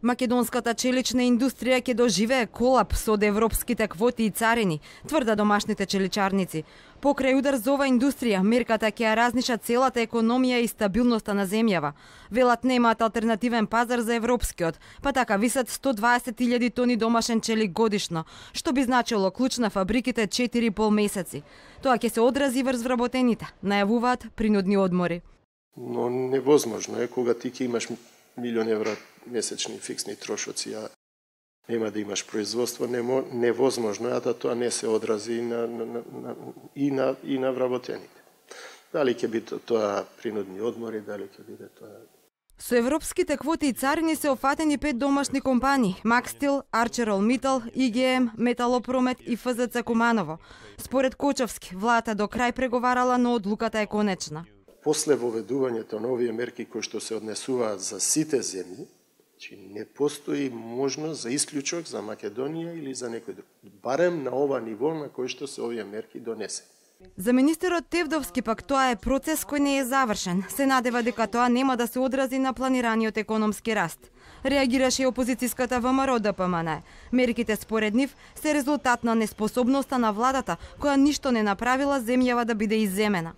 Македонската челична индустрија ќе доживее колапс од европските квоти и царини, тврда домашните челичарници. Покрај удар за ова индустрија, мерката ќе ја разниша целата економија и стабилноста на земјава. Велат немаат алтернативен пазар за европскиот, па така висат 120.000 тони домашен челик годишно, што би значило клуч на фабриките 4,5 месеци. Тоа ќе се одрази врз вработените, најавуваат принудни одмори. Но невозможно е кога ти ќе имаш милион евра месечни фиксни трошоци, а нема да имаш производство, невозможно е да тоа не се одрази и на вработените. Дали ќе биде тоа принудни одмори, дали ќе биде тоа... Со европските квоти и царини се офатени 5 домашни компании: Макстил, Арчерол-Митал, ИГМ, Металопромет и ФЗЦ Куманово. Според Кочовски, владата до крај преговарала, но одлуката е конечна. После воведувањето на овие мерки кои што се однесуваат за сите земји, не постои можност за исклучок за Македонија или за некој друг. Барем на ова ниво на кој што се овие мерки донесе. За министерот Тевдовски пак тоа е процес кој не е завршен. Се надева дека тоа нема да се одрази на планираниот економски раст. Реагираше и опозицијската ВМРО ДПМН. Мерките според нив се резултат на неспособноста на владата, која ништо не направила земјава да биде изземена.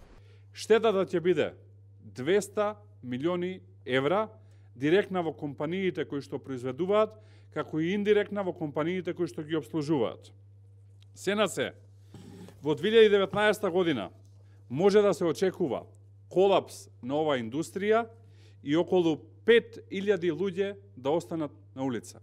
Штетата ќе биде 200 милиони евра директна во компаниите кои што произведуваат, како и индиректна во компаниите кои што ги обслужуваат. Сена се, во 2019 година може да се очекува колапс на оваа индустрија и околу 5.000 луѓе да останат на улица.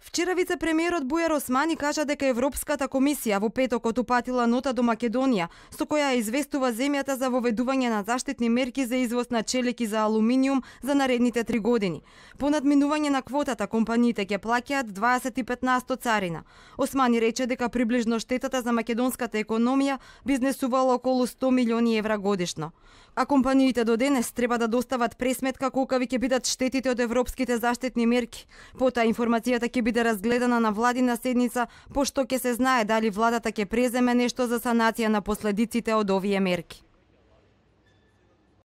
Вчера вице-премиерот Бујар Османи кажа дека Европската комисија во петокот упатила нота до Македонија, со која известува земјата за воведување на заштитни мерки за извоз на челик и за алуминиум за наредните 3 години. По надминување на квотата, компаниите ќе плаќаат 25% царина. Османи рече дека приближно штетата за македонската економија би изнесувала околу 100 милиони евра годишно. А компаниите до денес треба да достават пресметка колкави ќе бидат штетите од европските заштитни мерки. Потоа информацијата ќе биде разгледана на владина седница, пошто ќе се знае дали владата ќе преземе нешто за санација на последиците од овие мерки.